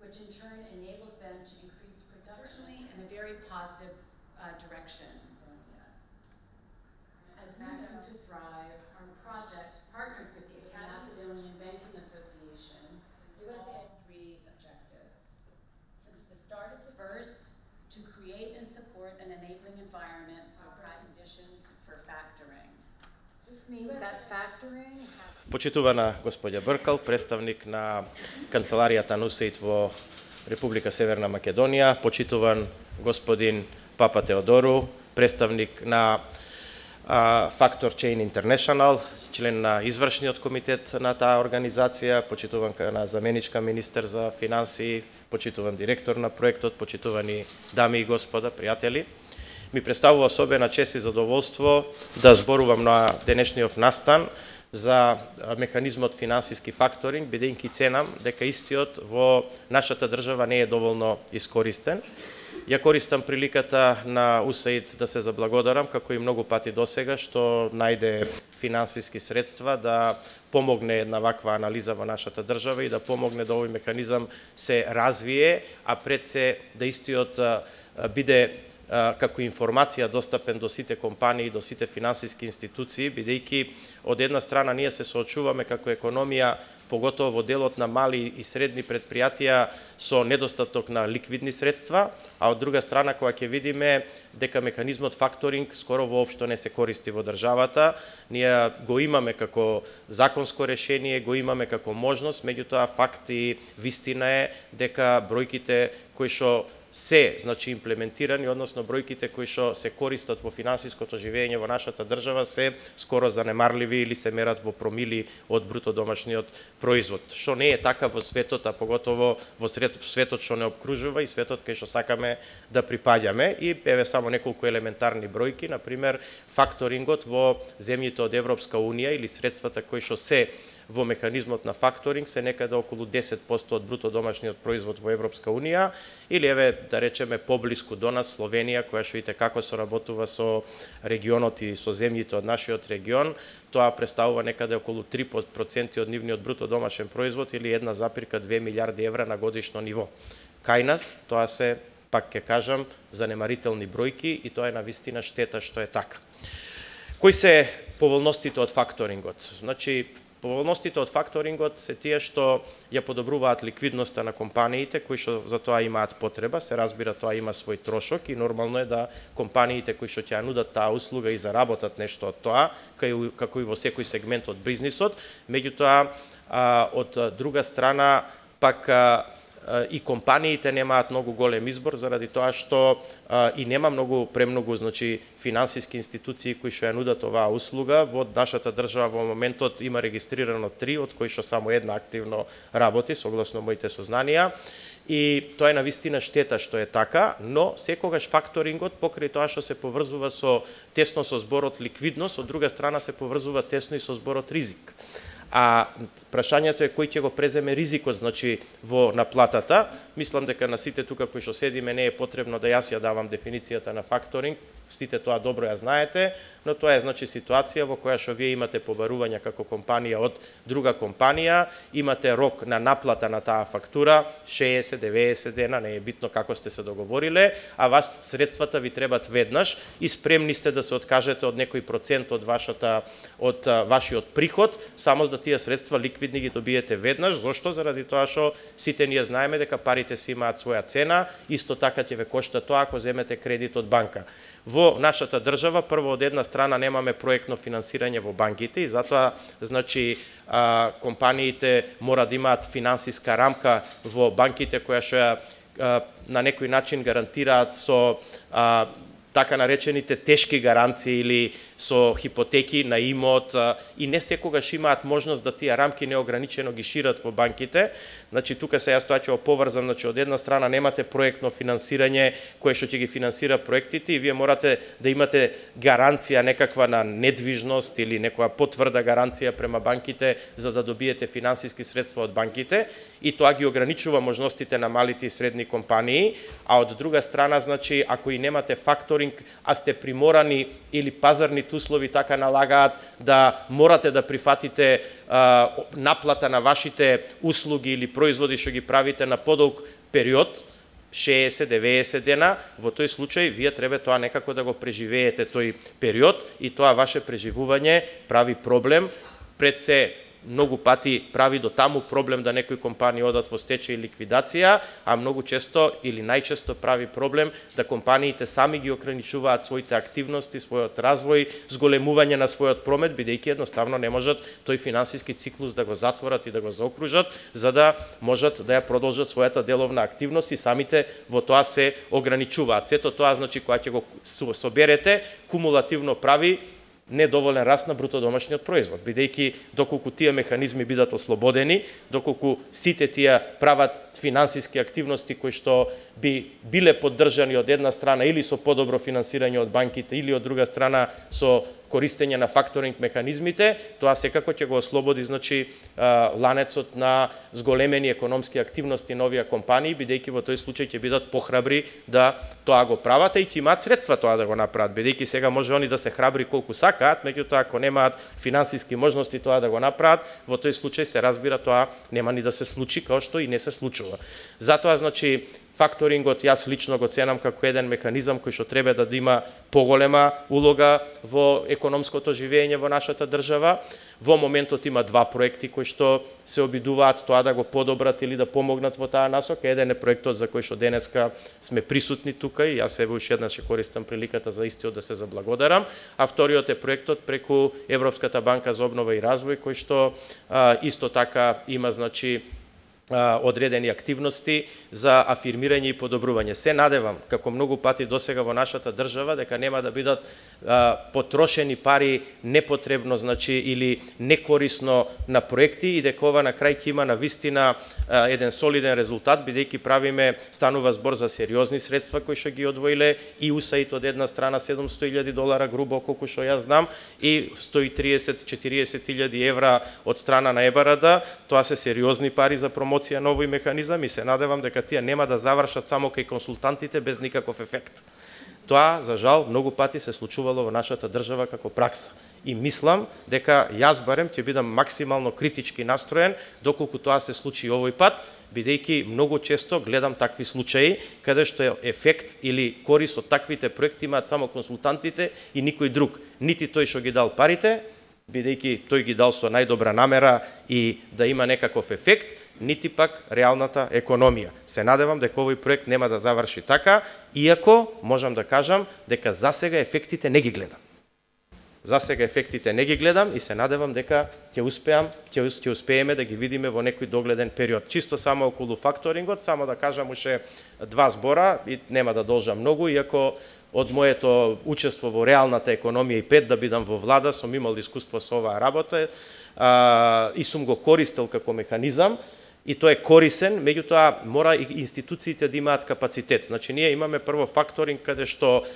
which in turn enables them to increase production in a very positive direction. As Macedon to Thrive, our project partnered with the Macedonian Banking Association. It was the three objectives. Since the start of the first, to create and support an enabling environment for conditions for factoring. This means that factoring. Почитувана господја Бркал, представник на канцеларијата на УСАИД во Република Северна Македонија, почитуван господин Папа Теодору, представник на Factor Chain International, член на извршниот комитет на таа организација, почитуван на заменичка министер за финансии, почитуван директор на проектот, почитувани дами и господа, пријатели. Ми представува особена чест и задоволство да зборувам на денешниот настан за механизмот финансиски факторинг, бидејќи ценам дека истиот во нашата држава не е доволно искористен. Ја користам приликата на УСАИД да се заблагодарам, како и многу пати досега, што најде финансиски средства да помогне една ваква анализа во нашата држава и да помогне да овој механизам се развие, а пред се да истиот биде како информација достапен до сите компании, до сите финансиски институции, бидејќи од една страна ние се соочуваме како економија, поготово во делот на мали и средни предпријатија со недостаток на ликвидни средства, а од друга страна кога ќе видиме дека механизмот факторинг скоро воопшто не се користи во државата, ние го имаме како законско решение, го имаме како можност, меѓутоа факт и вистина е дека бројките кои што се, значи, имплементирани, односно бројките кои што се користат во финансиското живење во нашата држава се скоро занемарливи или се мерат во промили од бруто домашниот производ. Што не е така во светот, а поготово во светот што не обкружува и светот кај што сакаме да припаѓаме. И еве само неколку елементарни бројки, на пример, факторингот во земјите од Европска унија или средствата кои што се во механизмот на факторинг се некаде околу 10% од бруто домашниот производ во Европска унија, или еве да речеме поблиску до нас Словенија, која што и како соработува со регионот и со земјите од нашиот регион, тоа представува некаде околу 3% од нивниот бруто домашен производ или 1,2 милиарди евра на годишно ниво. Кај нас тоа се, пак ќе кажам, занемарителни бројки и тоа е навистина штета што е така. Кои се поволностите од факторингот? Значи, поволностите од факторингот се тие што ја подобруваат ликвидноста на компаниите кои што за тоа имаат потреба, се разбира тоа има свој трошок и нормално е да компаниите кои што ќе ја нудат таа услуга и заработат нешто од тоа, како и во секој сегмент од бизнисот, меѓутоа од друга страна пак и компаниите немаат многу голем избор заради тоа што и нема премногу значи финансиски институции кои што ја нудат оваа услуга. Во нашата држава во моментот има регистрирано 3, од кои што само една активно работи согласно моите сознанија. И тоа е навистина штета што е така, но секогаш факторингот покрај тоа што се поврзува тесно со зборот ликвидност, од друга страна се поврзува тесно и со зборот ризик. А прашањето е кој ќе го преземе ризикот, значи, во наплатата. Мислам дека на сите тука кои што седиме не е потребно да јас ја давам дефиницијата на факторинг, сите тоа добро ја знаете, но тоа е значи ситуација во која што вие имате побарување како компанија од друга компанија, имате рок на наплата на таа фактура, 60-90 дена, не е битно како сте се договориле, а вас средствата ви требат веднаш и спремни сте да се откажете од некој процент од вашиот приход, само да тие средства ликвидни ги добиете веднаш. Зошто? Заради тоа што сите ние знаеме дека парите си имаат своја цена, исто така ќе ве кошта тоа ако земете кредит од банка. Во нашата држава, прво од една страна немаме проектно финансирање во банките и затоа значи компаниите мора да имаат финансиска рамка во банките која што на некој начин гарантираат со така наречените тешки гаранции или со хипотеки на имот и не секогаш имаат можност да тие рамки неограничено ги шират во банките. Значи тука се јас тоа ќе оповрзам, значи од една страна немате проектно финансирање кое што ќе ги финансира проектите и вие морате да имате гаранција некаква на недвижност или некоја потврда гаранција према банките за да добиете финансиски средства од банките и тоа ги ограничува можностите на малите и средни компании, а од друга страна значи ако и немате факторинг, а сте приморани или пазарните социјалните услови така налагаат да морате да прифатите наплата на вашите услуги или производи што ги правите на подолг период, 60-90 дена, во тој случај вие треба тоа некако да го преживеете тој период и тоа ваше преживување прави проблем, пред се многу пати прави до таму проблем да некои компании одат во стечај и ликвидација, а многу често или најчесто прави проблем да компаниите сами ги ограничуваат своите активности, својот развој, зголемување на својот промет, бидејќи едноставно не можат тој финансиски циклус да го затворат и да го заокружат, за да можат да ја продолжат својата деловна активност и самите во тоа се ограничуваат. Сето тоа, значи, кога ќе го соберете, кумулативно прави недоволен раст на бруто домашниот производ, бидејќи доколку тие механизми бидат ослободени, доколку сите тие прават финансиски активности кои што би биле поддржани од една страна или со подобро финансирање од банките или од друга страна со користење на факторинг механизмите, тоа секако ќе го ослободи, значи, ланецот на зголемени економски активности на овие компании, бидејќи во тој случај ќе бидат похрабри да тоа го прават и ќе имаат средства тоа да го направат, бидејќи сега може они да се храбри колку сакаат, меѓутоа ако немаат финансиски можности тоа да го направат, во тој случај се разбира тоа нема ни да се случи, као што и не се случува. Затоа, значи, факторингот јас лично го ценам како еден механизам кој што треба да има поголема улога во економското живење во нашата држава. Во моментот има два проекти кои што се обидуваат тоа да го подобрат или да помогнат во таа насока. Еден е проектот за кој што денеска сме присутни тука и јас себе уште еднаш ќе користам приликата за истиот да се заблагодарам, а вториот е проектот преку Европската банка за обнова и развој кој што исто така има, значи, одредени активности за афирмирање и подобрување. Се надевам, како многу пати досега во нашата држава, дека нема да бидат потрошени пари непотребно, значи, или некорисно на проекти и дека ова на крај ќе има навистина еден солиден резултат, бидејќи правиме, станува збор за сериозни средства кои што ги одвоиле и USAID од една страна $700,000 грубо, колку што јас знам, и 130-40,000 евра од страна на ЕБРД. Тоа се сериозни пари за промоција на овој механизам и се надевам дека тие нема да завршат само кај консултантите без никаков ефект. Тоа, за жал, многу пати се случувало во нашата држава како пракса. И мислам дека јас барем ќе бидам максимално критички настроен доколку тоа се случи овој пат, бидејќи многу често гледам такви случаи каде што ефект или корис од таквите проекти имаат само консултантите и никој друг. Нити тој што ги дал парите, бидејќи тој ги дал со најдобра намера и да има некаков ефект, нити пак реалната економија. Се надевам дека овој проект нема да заврши така, иако можам да кажам дека засега ефектите не ги гледам. Засега ефектите не ги гледам и се надевам дека ќе успееме да ги видиме во некој догледен период. Чисто само околу факторингот, само да кажам уште два збора и нема да должам многу, иако од моето учество во реалната економија и пред да бидам во влада сум имал искуство со оваа работа и сум го користел како механизам. И тој е корисен, меѓутоа мора и институциите да имаат капацитет. Значи, ние имаме прво факторинг каде што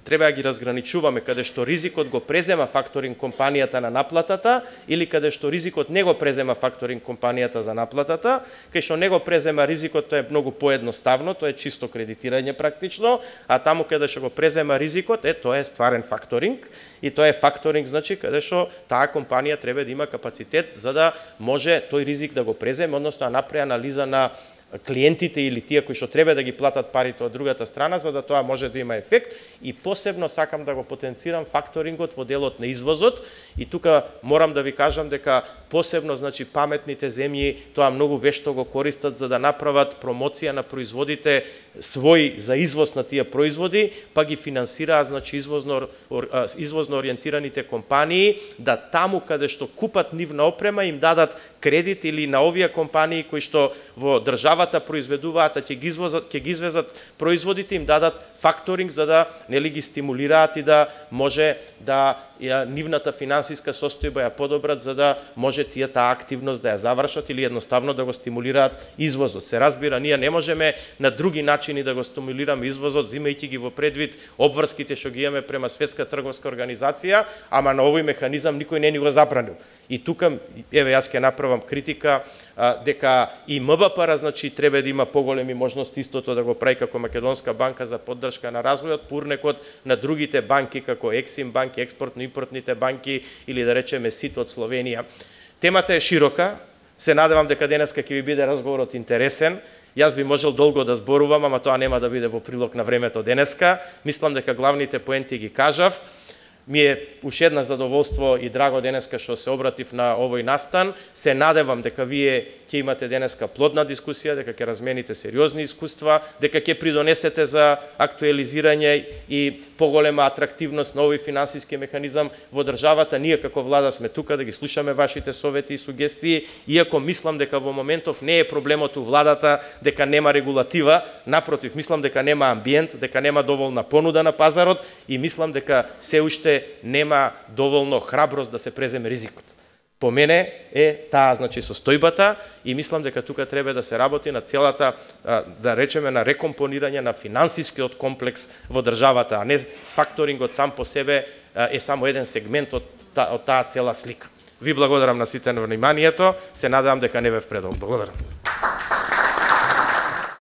треба да ги разграничуваме, каде што ризикот го презема факторинг компанијата на наплатата или каде што ризикот не го презема факторинг компанијата за наплатата. Кај што не го презема ризикот, тоа е многу поедноставно, тоа е чисто кредитирање практично, а таму каде што го презема ризикот, тоа е стварен факторинг. И тоа е факторинг, значи, каде што таа компанија треба да има капацитет за да може тој ризик да го преземе, односно да направи анализа на клиентите или тие кои што треба да ги платат парите од другата страна, за да тоа може да има ефект. И посебно сакам да го потенцирам факторингот во делот на извозот. И тука морам да ви кажам дека посебно, значи, паметните земји тоа многу вешто го користат за да направат промоција на производите свој за извоз на тие производи, па ги финансираат, значи, извозно ориентираните компании да таму каде што купат нивна опрема им дадат кредит или на овие компании кои што во државата произведуваат, а ќе ги извезат производите, им дадат факторинг за да нели ги стимулираат и да може да нивната финансиска состојба ја подобрат за да може таа активност да ја завршат или едноставно да го стимулираат извозот. Се разбира, ние не можеме на други начини да го стимулираме извозот, зимајќи ги во предвид обврските што ги имаме према Светска трговска организација, ама на овој механизам никој не ни го забранил. И тука, еве, јас ќе направам критика дека и МБПР, значи, треба да има поголеми можности истото да го прави како Македонска банка за поддршка на развојот, пурнекот на другите банки како Ексим банки, експортно-импортните банки или да речеме СИТ од Словенија. Темата е широка, се надевам дека денеска ќе ви биде разговорот интересен. Јас би можел долго да зборувам, ама тоа нема да биде во прилог на времето денеска. Мислам дека главните поенти ги кажав. Ми е уште една задоволство и драго денеска што се обратив на овој настан. Се надевам дека вие ќе имате денеска плодна дискусија, дека ќе размените сериозни искуства, дека ќе придонесете за актуализирање и поголема атрактивност на овој финансиски механизам во државата. Ние како влада сме тука да ги слушаме вашите совети и сугестии, иако мислам дека во моментов не е проблемот у владата дека нема регулатива, напротив, мислам дека нема амбиент, дека нема доволна понуда на пазарот и мислам дека се уште нема доволно храброст да се преземе ризикот. По мене е таа, значи, состојбата и мислам дека тука треба да се работи на целата, да речеме, на рекомпонирање на финансискиот комплекс во државата, а не факторингот сам по себе е само еден сегмент од таа цела слика. Ви благодарам на сите на вниманието, се надевам дека не бев предолг. Благодарам.